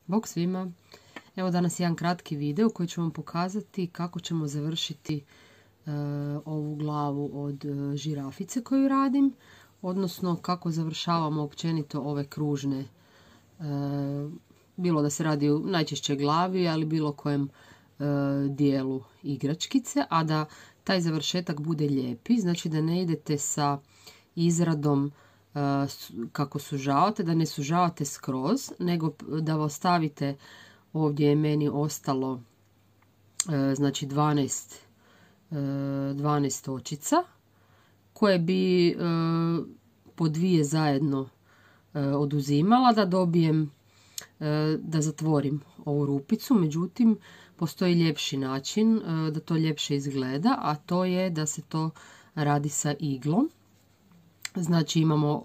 Bok svima! Evo danas jedan kratki video koji ću vam pokazati kako ćemo završiti ovu glavu od žirafice koju radim, odnosno kako završavamo općenito ove kružne, bilo da se radi o najčešće glavi, ali bilo kojem dijelu igračkice, a da taj završetak bude lijepi, znači da ne idete sa izradom kako sužavate, da ne sužavate skroz, nego da ostavite, ovdje je meni ostalo znači 12 očica koje bi po dvije zajedno oduzimala da dobijem, da zatvorim ovu rupicu. Međutim, postoji ljepši način da to ljepše izgleda, a to je da se to radi sa iglom. Znači imamo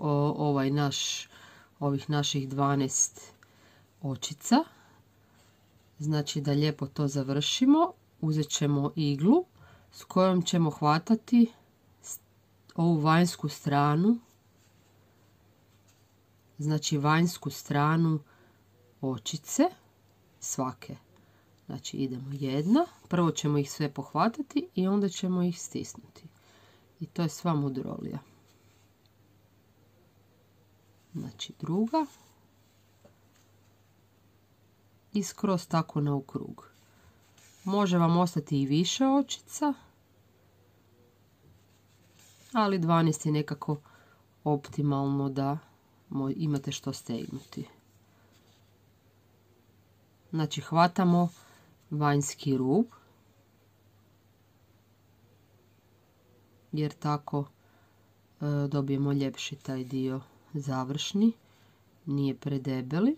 ovih naših 12 očica. Znači da lijepo to završimo, uzet ćemo iglu s kojom ćemo hvatati ovu vanjsku stranu, znači vanjsku stranu očice svake. Znači idemo jedna, prvo ćemo ih sve pohvatati i onda ćemo ih stisnuti. I to je sva mudrolija. Znači druga i skroz tako na ukrug. Može vam ostati i više očica, ali 12 je nekako optimalno da imate što stegnuti. Znači hvatamo vanjski rub, jer tako dobijemo ljepši taj dio završni, nije predebeli.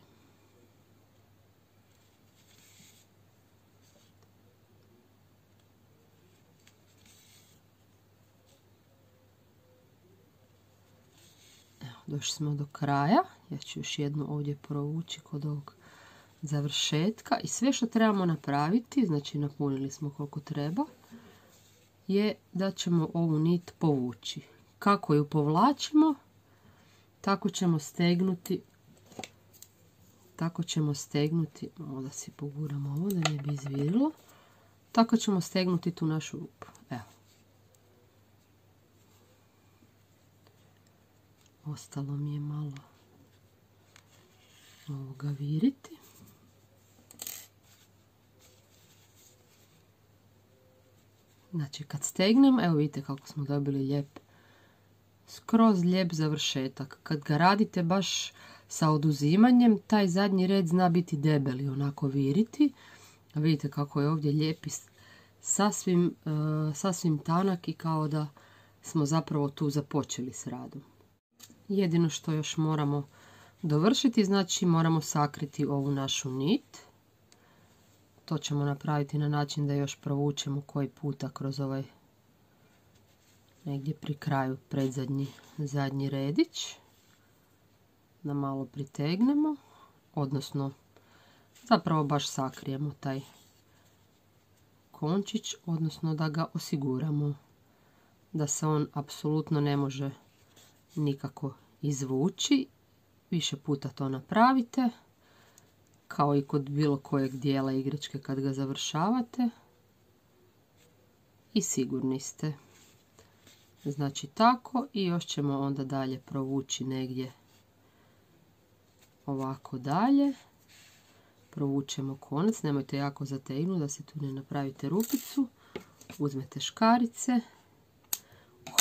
Evo, došli smo do kraja. Ja ću još jednu ovdje provući kod ovog završetka i sve što trebamo napraviti, znači napunili smo koliko treba, je da ćemo ovu nit povući. Kako ju povlačimo, tako ćemo stegnuti, malo da si poguramo ovo da ne bi izvirilo, tako ćemo stegnuti tu našu rupu. Evo. Ostalo mi je malo ovoga viriti. Znači kad stegnem, evo vidite kako smo dobili lijep, skroz lijep završetak. Kad ga radite baš sa oduzimanjem, taj zadnji red zna biti debeli, onako viriti. A vidite kako je ovdje lijep i sasvim tanak i kao da smo zapravo tu započeli s radom. Jedino što još moramo dovršiti, znači moramo sakriti ovu našu nit. To ćemo napraviti na način da još provučemo koji puta kroz ovaj negdje pri kraju zadnji redić. Da malo pritegnemo, odnosno zapravo baš sakrijemo taj končić, odnosno da ga osiguramo da se on apsolutno ne može nikako izvući. Više puta to napravite, kao i kod bilo kojeg dijela igračke kad ga završavate i sigurni ste. Znači tako, i još ćemo onda dalje provući negdje ovako dalje. Provučemo konac, nemojte jako zategnuti da se tu ne napravite rupicu. Uzmete škarice,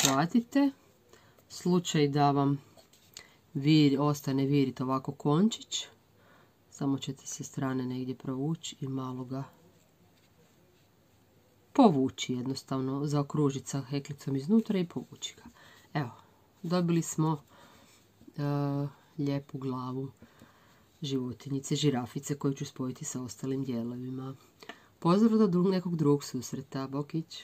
uhvatite. Slučaj da vam ostane viriti ovako končić, samo ćete se strane negdje provući i malo ga povući, jednostavno zaokružiti sa heklicom iznutra i povući ga. Evo, dobili smo lijepu glavu životinjice, žirafice, koju ću spojiti sa ostalim dijelovima. Pozdrav do nekog drugog susreta. Bokić!